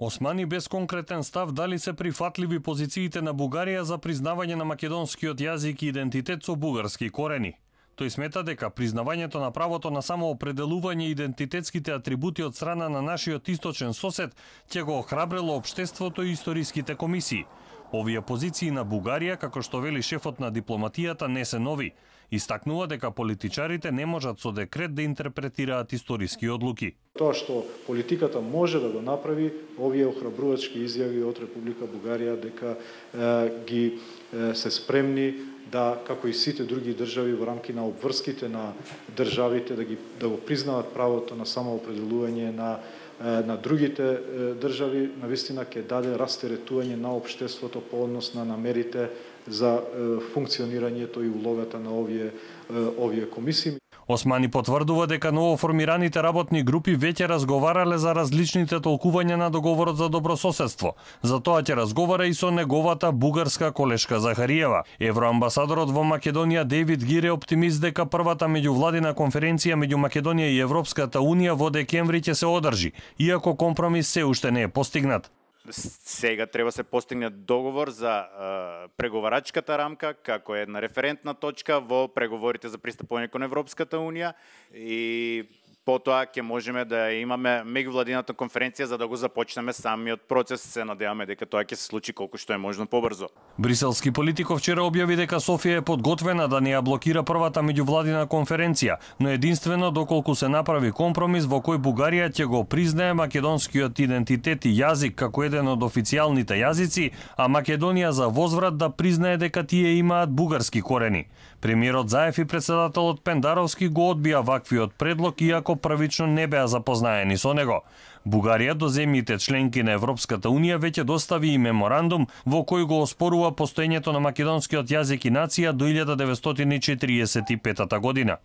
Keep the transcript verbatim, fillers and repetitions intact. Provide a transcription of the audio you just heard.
Османи без конкретен став дали се прифатливи позициите на Бугарија за признавање на македонскиот јазик и идентитет со бугарски корени. Тој смета дека признавањето на правото на самоопределување и идентитетските атрибути од страна на нашиот источен сосед ќе го охрабрило општеството и историските комисии. Овие позиции на Бугарија, како што вели шефот на дипломатијата, не се нови. Истакнува дека политичарите не можат со декрет да интерпретираат историски одлуки. Тоа што политиката може да го направи, овие охрабрувачки изјави од Република Бугарија дека е, ги е, се спремни да, како и сите други држави во рамки на обврските на државите, да ги да го признаат правото на самоопределување на на другите држави, навистина ќе даде растеретување на општеството по однос на намерите за функционирањето и улогата на овие овие комисии. Османи потврдува дека новоформираните работни групи веќе разговарале за различните толкувања на договорот за добрососедство. За тоа ќе разговара и со неговата бугарска колешка Захариева. Евроамбасадорот во Македонија Дейвид Гир е оптимист дека првата меѓувладина конференција меѓу Македонија и Европската унија во декември ќе се одржи, иако компромис се уште не е постигнат. Сега треба се постигне договор за е, преговарачката рамка како една референтна точка во преговорите за пристапување кон Европската унија и потоа ќе можеме да имаме меѓувладината конференција за да го започнеме самиот процес. Се надеваме дека тоа ќе се случи колку што е можно побрзо. Бриселски политиков вчера објави дека Софија е подготвена да не ја блокира првата меѓувладина конференција, но единствено доколку се направи компромис во кој Бугарија ќе го признае македонскиот идентитет и јазик како еден од официјалните јазици, а Македонија за возврат да признае дека тие имаат бугарски корени. Премиерот Заев и председателот Пендаровски го одбија ваквиот предлог, иако првично не беа запознаени со него. Бугарија до земјите членки на Европската унија веќе достави и меморандум во кој го оспорува постоењето на македонскиот јазик и нација до илјада деветстотини и четириесет и петата година.